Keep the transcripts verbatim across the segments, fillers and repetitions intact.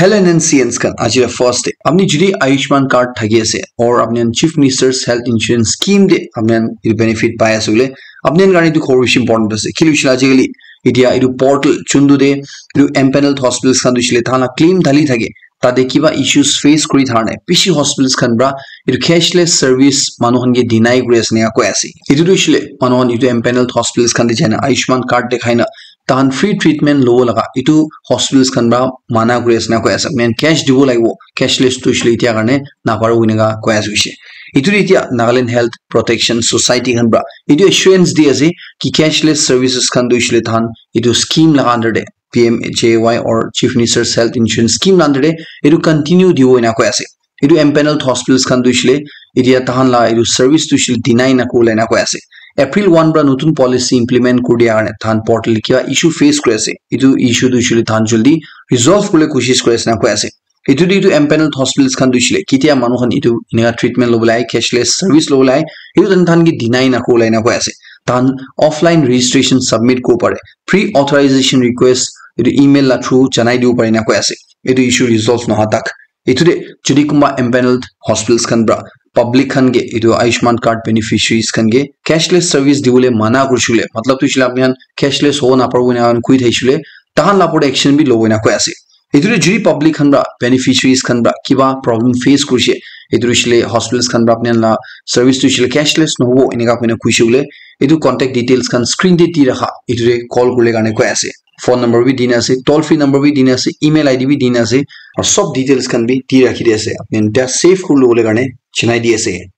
Hello N N C Ns khan, aji la first day. Apni jodi Ayushman card thaki ase or apni khan Chief Minister's Health Insurance Scheme de apni khan etu benefit pai ase bole, apni khan karne etu khobor bishi important ase. Kile hoishe le ajikali etia etu portal chundu de etu empaneled hospitals khan tu hoishe le tahan la claim dali thake. Tate kiba issues face kuri thakane bishi hospitals khan pra etu cashless service manu khan ke deny kuri ase ena koi ase. Etu tu hoishe le manu khan etu empaneled hospitals khan de jaina Ayushman card dekhai na tahan free treatment lobo laga etu hospitals khan pra mana kuri ase ena koi ase. Main cash dibo lagibo, cashless tu hoishe le etia karne naparo eneka koi ase hoishe. Etu tu etia Nagaland Health Protection Society khan pra etu assurance di ase ki cashless services khan tu hoishe le tahan etu scheme laga under de P M J A Y or Chief Minister's Health Insurance Scheme la under de etu continue dibo ena koi ase. Etu empaneled hospitals khan tu hoishe le etia tahan la etu service tu hoishe le deny na kuribole ena koi ase. April one pra notun policy implement kuri dia karne tahan portal kiba issue face kuri ase. Etu issue tu hoishe le tahan jaldi resolve kuribole koshish kuri ase ena koi ase. Etu tu etu empaneled hospitals khan tu hoishe le ketia manu khan etu eneka treatment lobole ahe, cashless service lobole ahe, etu tahan ke deny na kuribole ena koi ase. Tahan offline registration submit kuribo pare, pre authorization request etu email la through janai dibo pare ena koi ase. Etu issue resolve noha tak. Etu de jodi kunba empaneled hospitals khan pra public khan ke etu Ayushman card beneficiaries khan ke cashless service dibole mana kurishe le, matlab tu hoishe le apni khan cashless hobo naparibo ena khan koi thaishe le, tahan la opor de action bi lobo ena koi ase. Etu de jodi public khan pra beneficiaries khan pra kiba problem face kurishe, etu hoishe le hospitals khan pra apni khan la service tu hoishe le cashless nohobo eneka koina koishe bole, etu contact details khan screen de di rakha, etu de call kuribole karne koi ase. Phone number bi dina ase, toll free number bi dina ase, email I D bi dina ase, aru sob details khan bi di rakhi di ase. Apni khan tia save kuri lobole karne chinai di ase.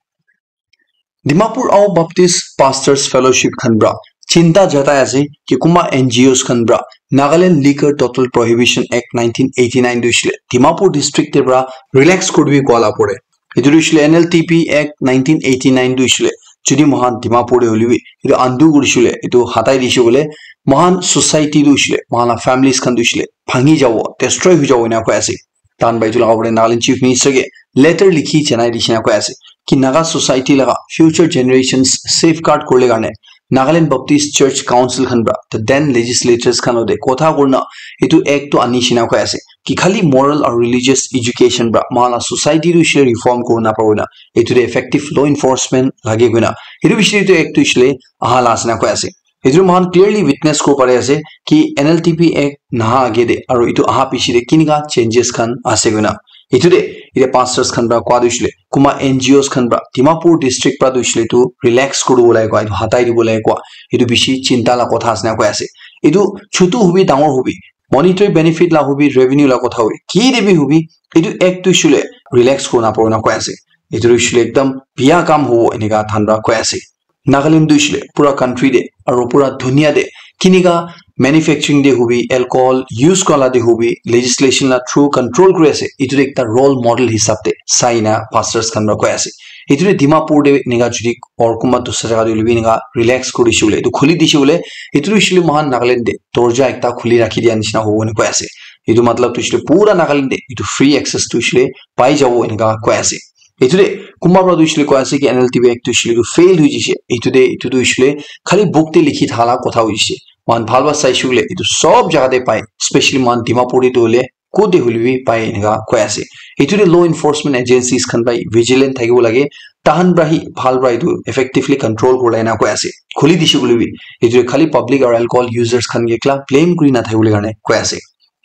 Dimapur Ao Baptist Pastors Fellowship khan pra chinta jatai ase ki kunba N G Os khan pra Nagaland Liquor Total Prohibition Act nineteen eighty-nine tu hoishe le Dimapur district te pra relax kuri dibi koa la pore. Etu tu hoishe le N L T P Act nineteen eighty-nine tu hoishe le jodi moikhan Dimapur te hoile bi etu undo kurishe le, etu hatai dishe bole, moikhan society tu hoishe le, moikhan la families khan tu hoishe le bhangi jabo, destroy hoi jabo ena koi ase. Tahan pra etu laga opor te Nagaland Chief Minister ke letter likhi janai dishe ena koi ase ki Naga society laga future generations safeguard kuribole karne Nagaland Baptist Church Council khan pra the then legislators khan logote kotha kurina etu act tu anishe ena koi ase ki khali moral aru religious education pra moikhan la society tu hoishe le reform kuribo naparibo na, etu de effective law enforcement lage koina etu bishi etu act tu hoishe le aha la ase ena koi ase. Etu moikhan clearly witness kuribo pari ase ki N L T P Act naha age de aru etu aha piche de kinika changes khan ase koina. Etu de etia pastors khan pra koa tu hoishe le kunba N G Os khan pra Dimapur district pra tu hoishe le etu relax kuri dibo lage koa, etu hatai dibo lage koa, etu bishi chinta la kotha ase ena koi ase. Etu chutu hobi dangor hobi, monetary benefit la hobi, revenue la kotha hobi, ki de bi hobi, etu act tu hoishe le relax kurina paribo ena koi ase. Etu tu hoishe le ekdam biya kam hobo eneka tahan pra koi ase. Nagaland tu hoishe le pura country de aru pura dunia de kinika manufacturing de hobi, alcohol use kura la de hobi, legislation la through control kuri ase. Etu tu ekta role model hisab de sai na pastors khan pra koi ase. Etu tu Dimapur de eneka jodi or kunba dusra jaga de hoile bi eneka relax kuri dishe bole, etu khuli dishe bole, etu tu hoishe le moikhan Nagaland de dorja ekta khuli rakhi dia nishina hobo ena koi ase. Etu matlab tu hoishe le pura Nagaland de etu free access tu hoishe le pai jabo eneka koi ase. Etu de kunba pra tu hoishe le koi ase ki N L T P Act tu hoishe le etu fail hoi jaise. Etu de etu tu hoishe le khali book te likhi thala kotha hoi jaise. Moikhan bhal pra saishe koile etu sob jaga te pai, especially moikhan Dimapur te tu hoile kot te hoile bi pai eneka koi ase. Etu de law enforcement agencies khan pra vigilant thakibo lage, tahan pra hi bhal pra etu effectively control kuribole ena koi ase. Khuli dishe koile bi etu de khali public aru alcohol users khan ke ekla blame kuri na thakibole karne koi ase.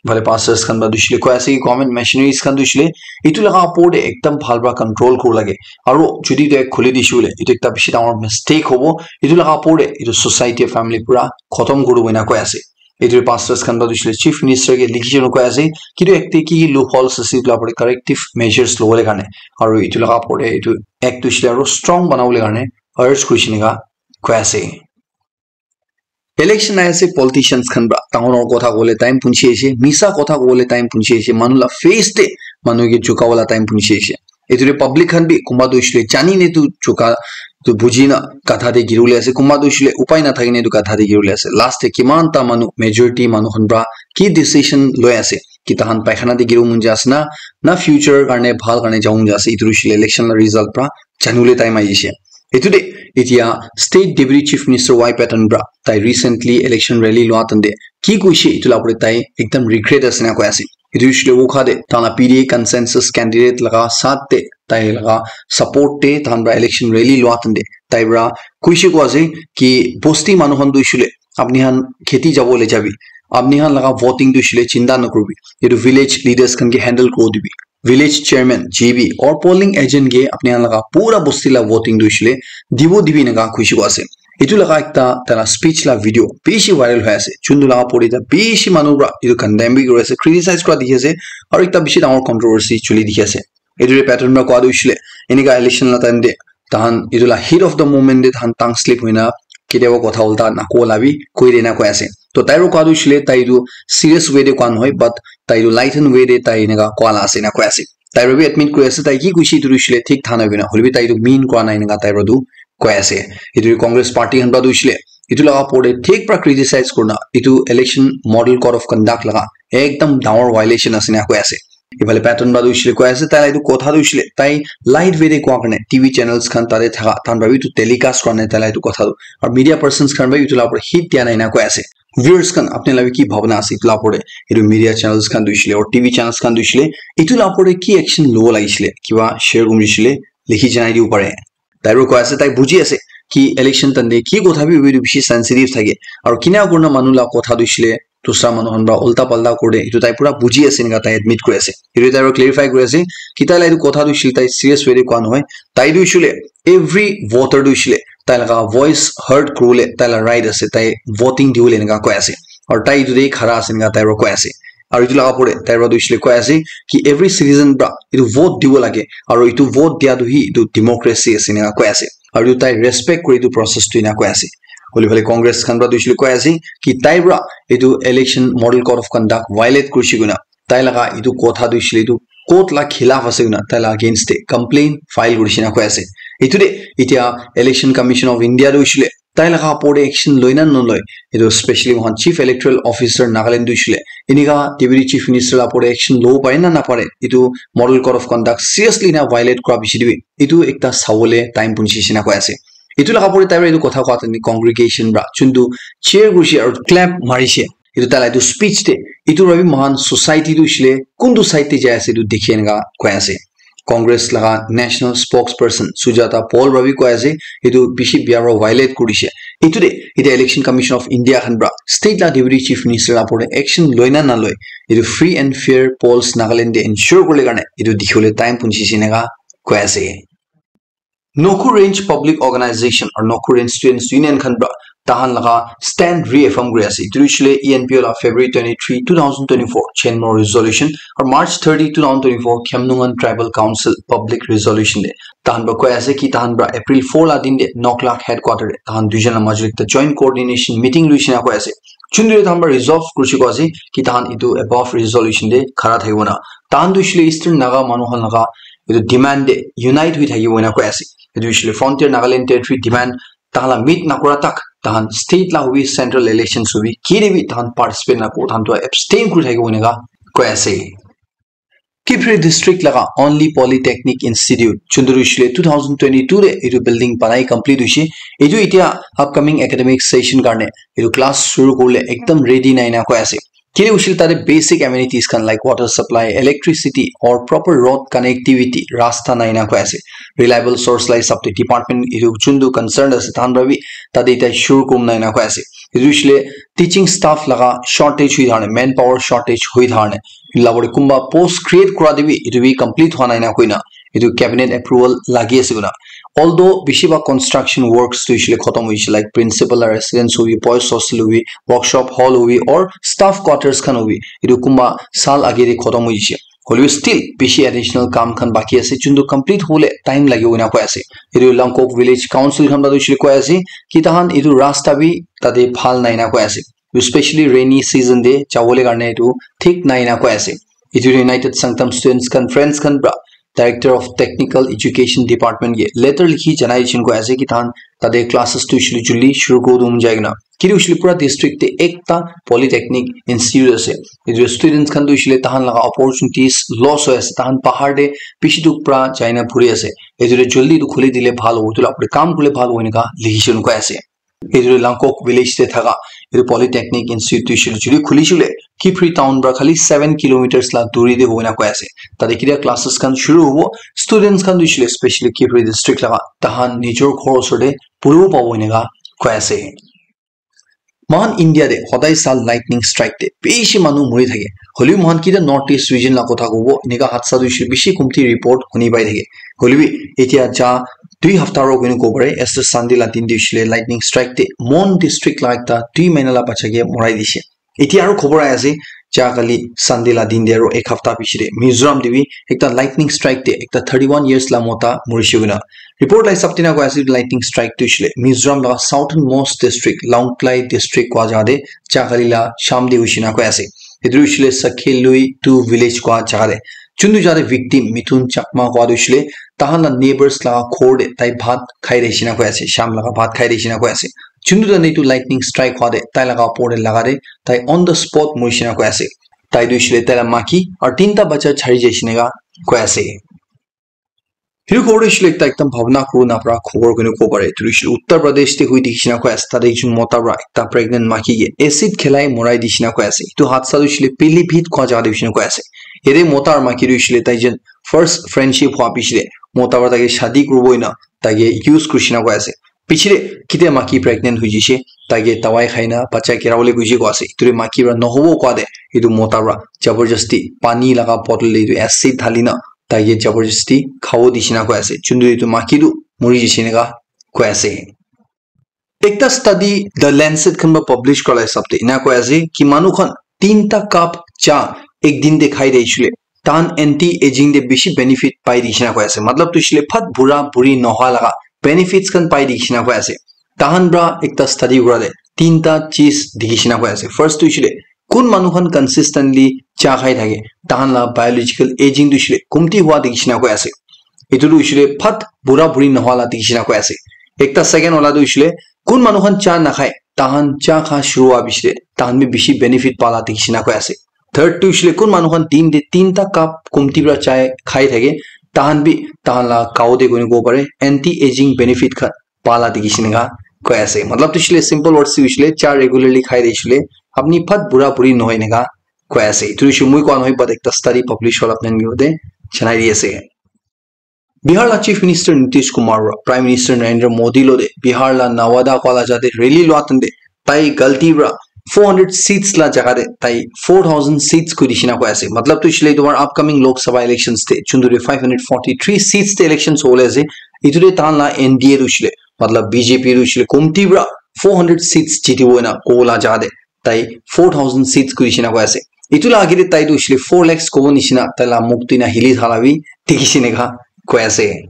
Phale pastors khan pra tu hoishe le koi ase ki government machineries khan tu hoishe le etu laga opor de ekdam bhal pra control kuribo lage. Aru jodi tu khuli dishe bole etu ekta bishi dangor mistake hobo. Etu laga opor de etu society, family pura khotom kuri dibo ena koi ase. Etu pastors khan pra tu hoishe le chief minister ke likhi jana koi ase ki etu act te ki ki loopholes ase etu la opor de corrective measures lobole karne. Aru etu laga opor de etu act tu hoishe le aru strong banabole karne urge kurishe eneka koi ase. Election ahi ase, politicians khan pra dangor dangor kotha kobole time punchi ase, misa kotha kobole time punchi ase, manu la face te manu ke jhuka wala time punchi ase. Etu de public khan bi kunba tu hoishe le jani ne tu jhuka tu buji na gatha te giri bole ase, kunba tu hoishe le upai na thaki ne tu gatha te giri bole ase. Last te kiman ta manu, majority manu khan pra ki decision loi ase ki tahan paikhana te giri bo mon jai ase na, na future karne bhal karne jabo mon jai ase, etu tu hoishe le election la result pra jani bole time ahi ase. Etu de etia State Deputy Chief Minister Y Patton pra tai recently election rally lua time te ki koishe etu la opor de tai ekdam regret ase na koi ase. Etu hoishe le Wokha te tahan la P D A consensus candidate laga saath te tai laga support te tahan pra election rally lua time te tai pra koishe koa ase ki bosti manu khan tu hoishe le apni khan kheti jabo le jabi, apni khan laga voting tu hoishe le chinta nakuribi, etu village leaders khan ke handle kuri dibi, village chairman, G B or polling agent ke apni khan laga pura bosti la voting tu hoishe le dibo dibi eneka koishe koa ase. Etu laga ekta taila speech la video bishi viral hoi ase. Juntu laga opor te bishi manu pra etu condemn bi kuri ase, criticize kura dikhi ase, aru ekta bishi dangor controversy chuli dikhi ase. Etu te Patton pra koa tu hoishe le, eneka election la time te tahan etu la heat of the moment te tahan tongue slip hoina ketiaba kotha ulta nakoa la bi koi de na koi ase. To tai pra koa tu hoishe le tai etu serious way te koa nohoi, but tai etu lighten way te tai eneka koa la ase na koi ase. Tai pra bi admit kuri ase, tai ki koishe etu tu hoishe le thik tha nai koina, hoilebi tai etu mean kura nai eneka tai pra tu koi ase. Etu Congress party khan pra tu hoishe le etu laga opor te thik pra criticize kurina etu election model code of conduct laga ekdam dangor violation ase na koi ase. Ephale Patton pra tu hoishe le koi ase, tai la etu kotha tu hoishe le tai light way te koa karne T V channels khan tate thaka tahan pra bi etu telecast kura nai tai la etu kotha tu. Aru media persons khan pra etu la opor te hit dia nai na koi ase. Viewers khan, apni la bi ki bhabna ase etu la opor te? Etu media channels khan tu hoishe le aru T V channels khan tu hoishe le etu la opor te ki action lobo lagishe le, kiba share kuri hoishe le likhi janai dibo pare. Tai pra koi ase, tai buji ase ki election time te ki kotha bi hobi etu bishi sensitive thake. Aru kina kurina manu la kotha tu hoishe le dusra manu khan pra ulta palta kuri de, etu tai pura buji ase eneka tai admit kuri ase. Etu tai pra clarify kuri ase ki tai la etu kotha tu hoishe le tai serious way te koa nohoi. Tai tu hoishe le every voter tu hoishe le tai laga voice heard kuribole tai la right ase, tai voting dibole eneka koi ase. Aru tai etu te khara ase eneka tai pra koi ase. Aru etu laga opor te tai pra tu hoishe le koi ase ki every citizen pra etu vote dibo lage, aru etu vote dia tu hi etu democracy ase eneka koi ase. Aru etu tai respect kuri etu process tu eneka koi ase. Hoile phale Congress khan pra tu hoishe le koi ase ki tai pra etu election model code of conduct violate kurishe koina tai laga etu kotha tu hoishe le etu court la khilaf ase koina tai la against te complaint file kurishe na koi ase. Etu te etia Election Commission of India tu hoishe le tai laga opor te action loi na naloi, etu specially moikhan Chief Electoral Officer Nagaland tu hoishe le eneka Deputy Chief Minister la opor te action lobo pare na napare, etu model code of conduct seriously na violate kura bishi te bi etu ekta sabole time punchi shina koi ase. Etu laga opor te tai pra etu kotha koa time te congregation pra juntu cheer kurishe aru clap marishe, etu tai la etu speech te, etu para bi moikhan society tu hoishe le kuntu side te jai ase etu dikhi eneka koi ase. Congress laga national spokesperson Sujata Paul para bi koi ase, etu bishi bia para violate kuri dishe. Etu te etia Election Commission of India khan para state la deputy chief minister la opor te action loi na naloi, etu free and fair polls Nagaland te ensure kuribole karne etu dikhibole time punchise eneka koi ase. Nokhu Range Public Organization or Nokhu Range Students Union khan para tahan laga stand reaffirm kuri ase. Etu hoishe le E N P O la February twenty-three, two thousand twenty-four Chenmo resolution or March thirty, two thousand twenty-four Khemlungan Tribal Council public resolution te tahan para koi ase ki tahan para April four la din te Noklak headquarter te tahan duijon la majot ekta joint coordination meeting loishe na koi ase. Chundri tahan para resolve kurishe koi ase ki tahan etu above resolution te khara thakibo na. Tahan tu hoishe le Eastern Naga manu khan laga etu demand te unite hoi thakibo ena koi ase. Etu hoishe le Frontier Nagaland Territory demand tahan la meet nakura tak tahan state la hobi, central elections hobi, kiri bi tahan participate nakobo, tahan tu abstain kuri thakibo eneka koi ase. Kiphire district laga only polytechnic institute, chundru hoishe le two thousand twenty-two te etu building banai complete hoishe. Etu etia upcoming academic session karne etu class shuru kuribole ekdam ready nai na koi ase. Kile hoishe le tate basic amenities khan like water supply, electricity or proper road connectivity, rasta nai na koi ase. Reliable source la hisab te department etu chundu concerned ase tahan para bi tate etia shuru kurim nai na koi ase. Etu hoishe le teaching staff laga shortage hui thakane, manpower shortage hui thakane, etu la opor te kunba post create kura te bi etu bi complete hua nai na koina etu cabinet approval lagi ase koina. Although bishi bhag construction works tu hoishe le khotom hoishe, like principal la residence hobi, boys hostel hobi, workshop hall hobi or staff quarters khan hobi, etu kunba saal age te khotom hoishe. Hoilebi still bishi additional kam khan baki ase, juntu complete hobole time lagibo ena koi ase. Etu Langkok Village Council khan para tu hoishe le koi ase ki tahan etu rasta bi tate bhal nai na koi ase. Especially rainy season te jabole karne etu thik nai na koi ase. Etu United Sangtam Students Conference khan para Director of Technical Education Department ke letter likhi janai dishon koi ase ki tahan tate classes tu hoishe le juldi shuru kuri dum jai kena. Kile hoishe le pura district te ekta polytechnic institute ase. Etu students khan tu hoishe le tahan laga opportunities loss hoi ase. Tahan bahar te bishi duk para jai na puri ase. Etu te juldi etu khuli dile bhal hobo, etu la opor te kam kurile bhal hobo eneka likhi dishon koi ase. Etu Langkok village te thaka etu Polytechnic Institute tu hoishe le jodi khuli shey le Kiphire town para khali seven kilometers la duri te hobo ena koi ase. Tate ketia classes khan shuru hobo, students khan tu hoishe le specially Kiphire district laga tahan nijor ghor osor te puribo pabo eneka koi ase. Mohan India te hodai sal lightning strike te bishi manu mori thake. Hoilebi mohan kita North East region la kotha kobo, eneka hadsa tu hoishe bishi kumti report huni pai thake. Hoilebi etia ja dui hafta ro koine kobo pare, as the Sunday la din te hoishe le lightning strike te Mon district la ekta dui mahina la bacha ke morai dishe. Etia aro khobor ahi ase, ja kali Sunday la din te aro ek hafta piche te Mizoram te bi ekta lightning strike te ekta thirty one years la mota morishe koina. Report la hisab te na koi ase, lightning strike tu hoishe le Mizoram la southernmost district, Lawngtlai district koi jaga te ja kali la sham te hoishe na koi ase. Etu hoishe le Sakhelui two village koi jaga te. Juntu jaga te victim Mithun Chakma koi tu hoishe le tahan la neighbors la ghor te tai bhat khai de shina koi ase, sham laga bhat khai de shina koi ase. Juntu jane etu lightning strike hwa te tai laga opor te laga te tai on the spot mori shina koi ase. Tai tu hoishe le tai la maki aru tinta bacha chari jai shina ka koi ase. Hiru khobor tu hoishe le ekta ekdam bhabna kuru na para khobor koine kobo pare. Etu tu hoishe le Uttar Pradesh te hui dikhi shina koi ase. Tate ekjon mota para ekta pregnant maki ke acid khelai morai di shina koi ase. Etu hadsa tu hoishe le Pilibhit koi jaga te hoishe na koi ase. Yate mota aru maki tu hoishe le tai jen first friendship hwa piche te mota para tai ke shadi kuribo ena tai ke use kuri shina koi ase. Piche te ketia maki pregnant hoi jishe, tai ke dawai khai na bacha gera bole gui je koi ase. Etu te maki para nohobo koi de, etu mota para jabardasti pani laga bottle te etu acid dhali na tai ke jabardasti khabo di shina koi ase. Juntu etu maki tu mori jishe eneka koi ase. Ekta study The Lancet khan para publish kora la hisab te ena koi ase ki manu khan tinta cup cha ek din te khai de hoishe le tahan anti aging te bishi benefit pai di shina koi ase. Matlab tu hoishe le phat bura buri noha laga benefits khan pai di shina koi ase. Tahan para ekta study kora te tinta cheez dikhi shina koi ase. First tu hoishe le kun manu khan consistently cha khai thake, tahan la biological aging tu hoishe le kumti hwa dikhi shina koi ase. Etu tu hoishe le phat bura buri noha la dikhi shina koi ase. Ekta second wala tu hoishe le kun manu khan cha nakhai, tahan cha kha shuru hwa piche te tahan bi bishi benefit pa la dikhi shina koi ase. Third tu hoishe le kun manu khan din te tinta cup kumti para chai khai thake, tahan bi tahan la gao te koine kobo pare anti aging benefit khan pa la dikhi shina ka koi ase. Matlab tu hoishe le simple words te hoishe le cha regularly khai de hoishe le apni phat bura buri nohoi eneka koi ase. Etu tu hoishe moi koa nohoi, but ekta study publish hola apni khan ke janai di ase. Bihar la Chief Minister Nitish Kumar para Prime Minister Narendra Modi lo de Bihar la Nawada koi la jaga te rally lua time te tai galti para four hundred seats la jaga te tai four thousand seats koi di shina koi ase. Matlab tu hoishe le etu upcoming Lok Sabha elections te juntu te five hundred forty three seats te elections hobole ase. Etu te tahan la N D A tu hoishe le, matlab B J P tu hoishe le kumti para four hundred seats jitibo ena kobo la jaga te tai four thousand seats koi di shina koi ase. Etu la age te tai tu hoishe le four lakhs kobo nishina tai la mukh tu ena hili thala bi dikhi shina ka koi ase.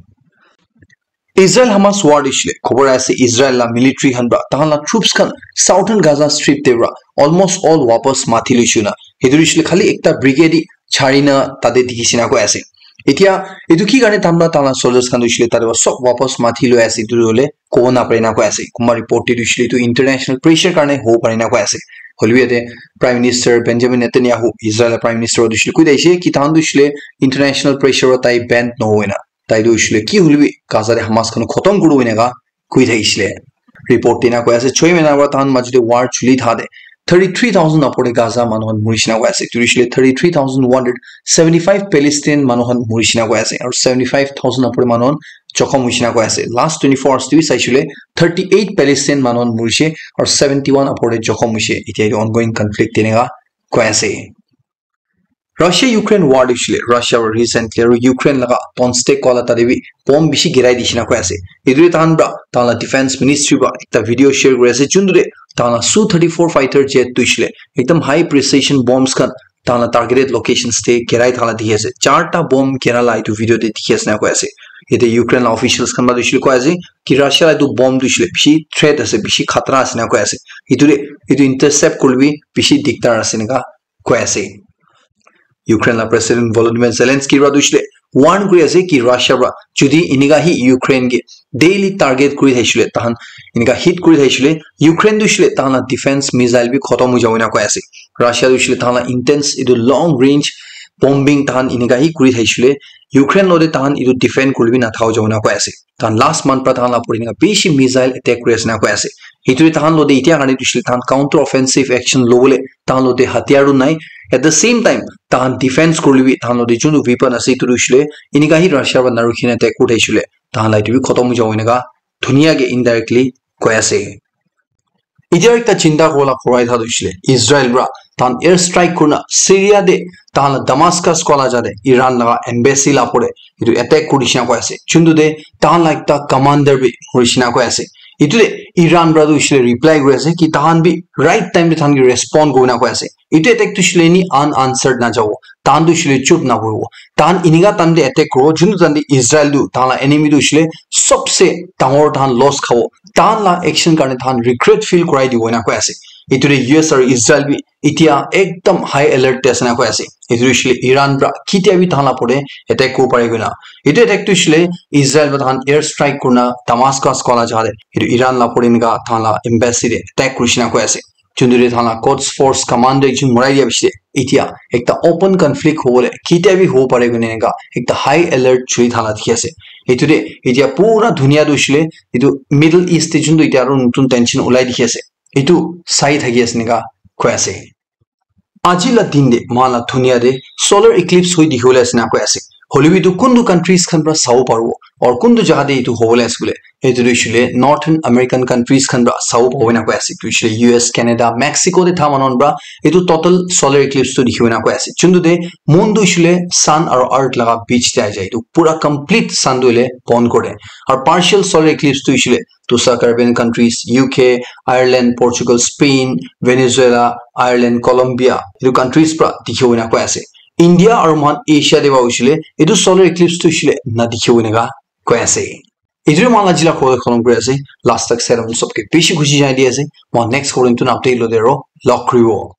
Israel Hamas war tu hoishe le khobor ase, Israel la military khan para tahan la troops khan southern Gaza Strip te para almost all wapas mathi loishe na. Etu tu hoishe le khali ekta brigade chari na tate dikhi shina koi ase. Etia etu ki karne tahan para tahan la soldiers khan tu hoishe le tate para sob wapas mathi loi ase, etu tu hoile kobo na pare na koi ase. Kunba report te tu hoishe le etu international pressure karne hobo pare na koi ase. Hoilebi yate Prime Minister Benjamin Netanyahu, Israel la Prime Minister tu hoishe le koi thakishe ki tahan tu hoishe le international pressure para tai bend nohoi na. Tai tu hoishe le ki hoilebi Gaza te Hamas khan khotom kuribo eneka koi thakishe le. Report te ena koi ase, choi mahina para tahan majo te war chuli thaka te thirty three thousand opor te Gaza manu khan mori shina koi ase. Tu hoishe le thirty three thousand one hundred seventy five Palestine manu khan mori shina koi ase. Aru seventy five thousand opor te manu khan jokhom hoi shina koi ase. Last twenty four hours te bi saishe le thirty eight Palestine manu khan morishe aru seventy one opor te jokhom hoishe. Etia etu ongoing conflict te eneka koi ase. Russia Ukraine war tu hoishe le, Russia para recently aru Ukraine laga Donetsk wala tate bi bomb bishi girai di shina koi ase. Etu te tahan para tahan la defense ministry para ekta video share kuri ase, juntu te tahan la Su thirty four fighter jet tu hoishe le ekdam high precision bombs khan tahan la targeted locations te girai thala dikhi ase. Charta bomb gira la etu video te dikhi ase na koi ase. Yate Ukraine la officials khan para tu hoishe le koi ase ki Russia la etu bomb tu hoishe le bishi threat ase, bishi khatra ase na koi ase. Etu te etu intercept kurilebi bishi dikdar ase eneka koi ase. Ukraine la President Volodymyr Zelensky para tu hoishe le warn kuri ase ki Russia para jodi eneka hi Ukraine ke daily target kuri thaishe le, tahan eneka hit kuri thaishe le, Ukraine tu hoishe le tahan la defense missile bi khotom hoi jabo ena koi ase. Russia tu hoishe le tahan la intense etu long range bombing tahan inika hi kuri thaisile, Ukraine lo de tahan itu defend kuribi na thao jona koi ase. Tahan last month pra tahan la puri nika bishi missile attack kuri ase na koi ase. Itu de tahan lo de itia karne tushile tahan counter offensive action lobole tahan lo de hatiyar nai. At the same time, tahan defense kuribi tahan lo de junu weapon ase itu tushile inika hi Russia ba naru khina attack kuri thaisile tahan la itu bi khotom jabo inika dunia ke indirectly koi ase. Itia ekta chinta kola korai tha tushile Israel pra tahan air strike kurna Syria de tahan la Damascus kola jade Iran laga embassy la pore itu attack kuri shina koi ase. Chundu de tahan la ekta commander bi mori shina koi ase. Itu de Iran pra tushile reply kuri ase ki tahan bi right time de tahan ki respond kuri na koi ase. Itu attack tushile ni unanswered na jabo. Tahan tushile chup na koribo. Tahan inika tahan de attack koribo. Juntu tahan de Israel tu tahan la enemy tushile sobse dangor tahan loss khabo. Tahan la action karne tahan regret feel korai dibo ena koi ase. Itu de U S aru Israel bi itia ekdam high alert te ase na koi ase. Itu tushile Iran pra kitia bi tahan la pore attack kori pare koi na. Itu attack tushile Israel pra tahan air strike kurna Damascus kola jaga de. Itu Iran la pore nika tahan la embassy de attack kuri shina koi ase. Juntu de tahan la Quds Force commander ekjon morai dia bishi de itia ekta open conflict hobole kitia bi hobo pare koi na eneka ekta high alert chuli tahan la dikhi ase. Itu de itia pura dunia tu hoishile itu Middle East de juntu itia aru notun tension ulai dikhi ase. Itu sai thaki ase eneka koi ase. Aji la din de moikhan la dunia de solar eclipse hoi dikhi bole ase na koi ase. Hoile bi itu kuntu countries khan pra sabo paribo aru kuntu jaga de itu hobole ase bole itu tu hoishile Northern American countries khan pra sabo pabo na koi ase. Itu hoishile U S, Canada, Mexico de tha manu khan pra itu total solar eclipse tu dikhi bole na koi ase. Juntu de moon tu hoishile sun aru earth laga beach de ahi jai. Itu pura complete sun tu hoile bon kore. Aru partial solar eclipse tu hoishile Tusa Caribbean countries, U K, Ireland, Portugal, Spain, Venezuela, Ireland, Colombia, itu countries pra dikhibo ena koi ase. India aru moikhan Asia te ba hoishile, itu solar eclipse tu hoishile na dikhibo eneka koi ase. Itu moikhan la jila khobor kholom kuri ase, last tak sai sobke bishi khushi janai di ase. Moikhan next khobor tu update lo de ro log kuribo.